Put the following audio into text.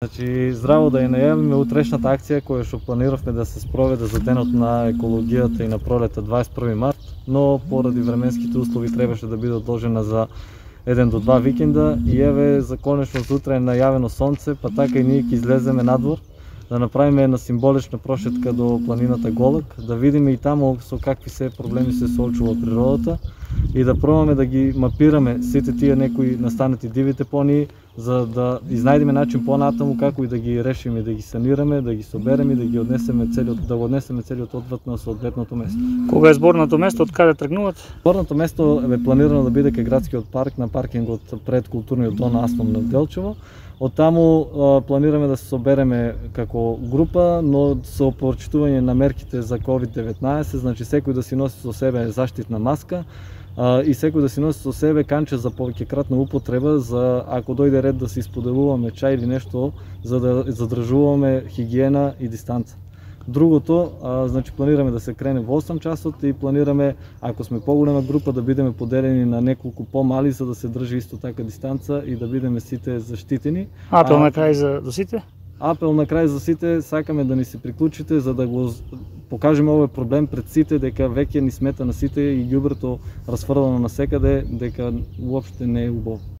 Значи, здраво да ја најавиме утрешната акција која што планиравме да се спроведе за денот на екологијата и на пролета 21 март, но поради временските услови требаше да биде одложена за 1 до 2 викенда и еве за конечно утре е најавено сонце, па така и ние ќе излеземе надвор да направиме една символична прошетка до планината Голак, да видиме и таму со какви се проблеми се соочува природата и да пробаме да ги мапираме сите тие некои настанати диви депонии, за да изнајдеме начин понатаму како и да ги решиме, да ги санираме, да ги собереме и да ги однесеме целиот отвод на соодветното место. Кога е зборното место, од каде тргнуват? Зборното место е планирано да биде кај градскиот парк на паркингот пред културниот дом Аслом на Делчево. Од таму планираме да се собереме како група, но со почитување на мерките за COVID-19, значи секој да си носи со себе заштитна маска и секој да си носи со себе канче за повеќекратна употреба, за ако дојде ред да се исподелуваме чај или нешто, за да задржуваме хигиена и дистанца. Другото, значи планираме да се крене во 8 часот и планираме, ако сме поголема група, да бидеме поделени на неколку помали, за да се држи исто така дистанца и да бидеме сите заштитени. Апел на крај за сите? Апел на крај за сите, сакаме да ни се приклучите за да го покажеме овој проблем пред сите, дека веќе ни смета на сите и ѓубрето расфрлано насекаде, дека уопште не е убаво.